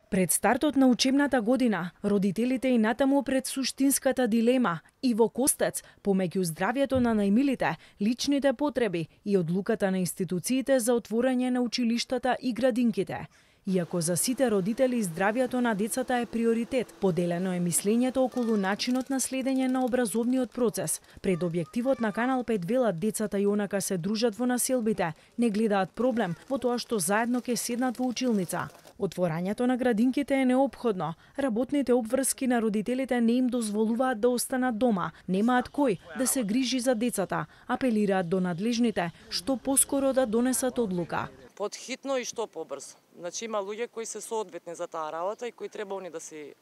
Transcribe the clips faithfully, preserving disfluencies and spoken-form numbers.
Пред стартот на учебната година, родителите и натаму пред суштинската дилема и во костец помеѓу здравјето на најмилите, личните потреби и одлуката на институциите за отворање на училиштата и градинките. Иако за сите родители здравјето на децата е приоритет, поделено е мислењето околу начинот на следење на образовниот процес. Пред објективот на Канал пет велат децата и онака се дружат во населбите, не гледаат проблем во тоа што заедно ќе седнат во училница. Отворањето на градинките е неопходно. Работните обврски на родителите не им дозволуваат да останат дома, немаат кој да се грижи за децата, апелираат до надлежните што поскоро да донесат одлука. Подхитно и што побрзо. Значи има луѓе кои се соодветни за таа работа и кои треба они да си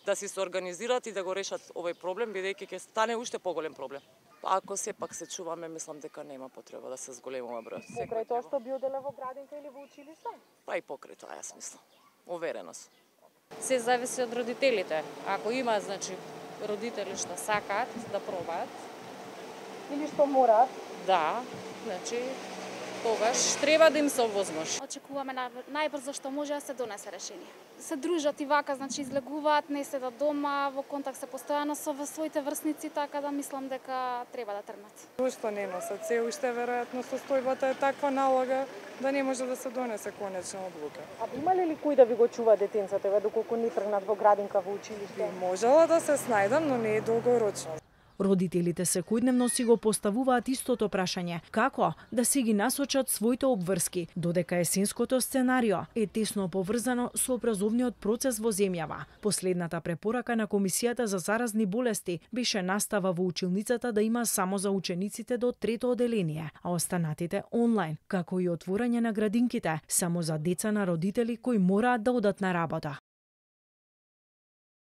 да си се организираат и да го решат овој проблем, бидејќи ќе стане уште поголем проблем. Ако сепак се чуваме, мислам дека нема потреба да се зголемува бројот. Покрај тоа што би оделе во градинка или во училиште? Па и покрај тоа, јас мислам. Уверена сум. Се зависи од родителите. Ако има, значи, родители што сакаат да пробаат или што мораат, да, значи тогаш треба да им се овозможи. Очекуваме најбрзо што може да се донесе решение. Се дружат и вака, значи излегуваат, не седат дома, во контакт се постојано со своите врсници, така да мислам дека треба да тргнат. Уште не носат се, уште веројатно состојбата е таква налога да не може да се донесе конечна одлука. А имале ли кој да ви го чува детенцата, доколку не тргнат во градинка, во училиште? Можела да се снајдам, но не е долгорочно. Родителите секојдневно си го поставуваат истото прашање: како да си ги насочат своите обврски, додека есенското сценарио е тесно поврзано со образовниот процес во земјава. Последната препорака на Комисијата за заразни болести беше настава во училницата да има само за учениците до трето оделение, а останатите онлайн, како и отворање на градинките само за деца на родители кои мораат да одат на работа.